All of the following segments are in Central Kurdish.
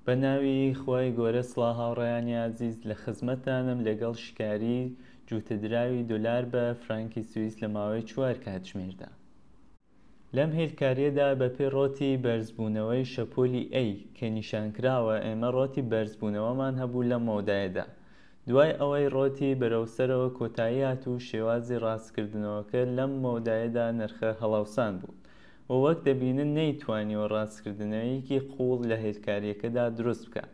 بە ناوی خوای گۆرە سڵاو هاوڕێیانی ئازیز لە خزمەتتانم لەگەڵ شکاری جووتە دراوی دۆلار بە فرانکی سویس لە ماوەی چوار کاتژمێردا. لەم هێلکاریەدا بەپێی ڕۆتی بەرزبوونەوەی شەپۆلی A کە نیشانکراوە ئێمە ڕۆتی بەرزبوونەوەمان هەبوو لەم مەودایەدا دوای ئەوەی ڕۆتی بەرەو سەرەوە کۆتایی هات و شێوازی ڕاستکردنەوەکە لەم مەودایەدا نرخە هەڵاوسان بوو و وەک دەبینن نەیتوانیوە ڕاستکردنەوەیەکی قووڵ لە هێلکارییەکەدا دروست بکات.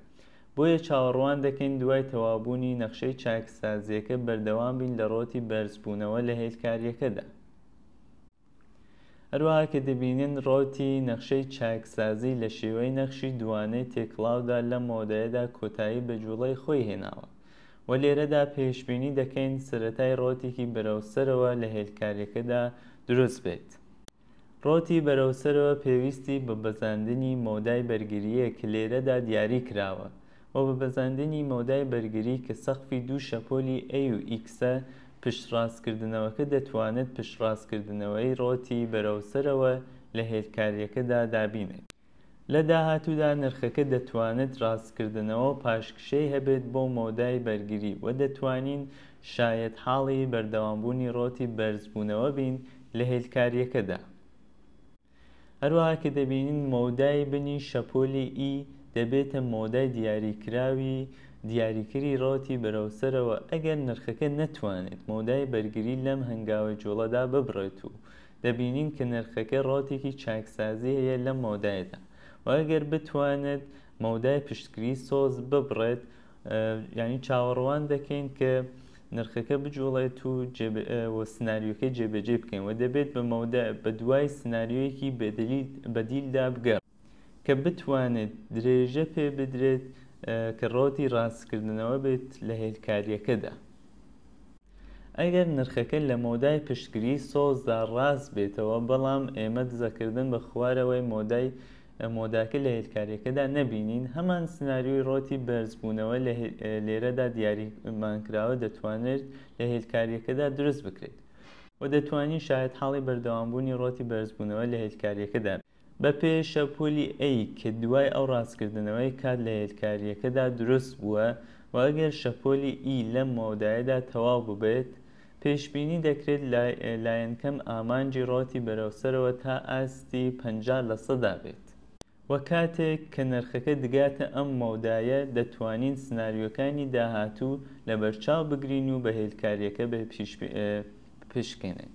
بۆیە چاوەڕوان دەکەین دوای تەواوبوونی نەخشەی چاکسازییەکە بەردەوام بین لە ڕۆتی بەرزبوونەوە لە هێلکارییەکەدا. هەروەها کە دەبینن ڕۆتی نەخشەی چاکسازی لە شێوەی نەخشی دووانەی تێکڵاودا لەم مەودایەدا کۆتایی بە جوڵەی خۆی هێناوە و لێرەدا پێشبینی دەکەین سەرەتای ڕۆتێکی بەرەو سەرەوە لە هێلکارییەکەدا دروست بێت. ڕۆتی بەرەو سەرەوە پێویستی بە بەزاندنی مەودای بەرگرییە کە لێرەدا دیاری کراوە و بە بەزاندنی مەودای بەرگری کە سەقفی دوو شەپۆلی A و X ە پشتڕاستکردنەوەکە دەتوانێت پشتڕاستکردنەوەی ڕۆتی بەرەو سەرەوە لە هێلکارییەکەدا دابینێت. لە داهاتوودا نرخەکە دەتوانێت ڕاستکردنەوە و پاشکشەی هەبێت بۆ مەودای بەرگری و دەتوانین شایەتحاڵی بەردەوامبوونی ڕۆتی بەرزبوونەوە بین لە هێلکارییەکەدا. هەروەها کە دەبینین مەودای بنی شەپۆلی E دەبێتە مەودای دیاریکراوی دیاریکری ڕەوتی بەرەو سەرەوە ئەگەر نرخەکە نەتوانێت مەودای بەرگری لەم هەنگاوەی جوڵەدا ببڕێت و دەبینین کە نرخەکە ڕەوتێکی چاکسازی هەیە لەم مەودایەدا و ئەگەر بتوانێت مەودای پشتگری سەوز ببڕێت یعنی چاوەڕوان دەکەین کە نرخەکە بجوڵێت و و سناریۆکە جێبەجێ بکەین و دەبێت بە مەودا بە دوای سناریۆیەکی بەدیلدا بگەڕ کە بتوانێت درێژە پێ بدرێت کە ڕۆتی ڕاستکردنەوە بێت لە هێلکاریەکەدا. ئەگەر نرخەکە لە مەودای پشتگریی سەوزدا ڕاست بێتەوە، بەڵام ئێمە دزەکردن بە خوارەوەی مەودای مەوداکە لە هێلکارییەکەدا نەبینین، هەمان سناریۆی ڕۆتی بەرزبوونەوە لە لێرەدا دیاریمانکراوە دەتوانرێت لە هێلکارییەکەدا دروست بکرێت و دەتوانین شایەتحاڵی بەردەوامبوونی ڕۆتی بەرزبوونەوە لە هێلکارییەکەدا بین. بەپێ شەپۆلی A کە دوای ئەو ڕاستکردنەوەی کات لە هێلکارییەکەدا دروست بووە و ئەگەر شەپۆلی E لەم مەودایەدا تەواو ببێت، پێشبینی دەکرێت لایەنکەم ئامانجی ڕەوتی بەرەو سەرەوە تا ئاستی 50 لەسەدا بێت. و کاتێک کە نرخەکە دگاتە ئەم مەودایە دەتوانین سناریۆکانی داهاتوو لەبەرچاو بگرین و بە هێلکارییەکە بپشکنین.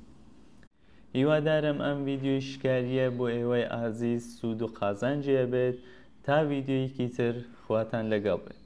هیوادارم ئەم ڤیدیۆی شکاریە بۆ ئێوەی ئازیز سوود و قازانجی هەبێت تا ڤیدیۆیەکی تر خواتان لەگەڵ بێت.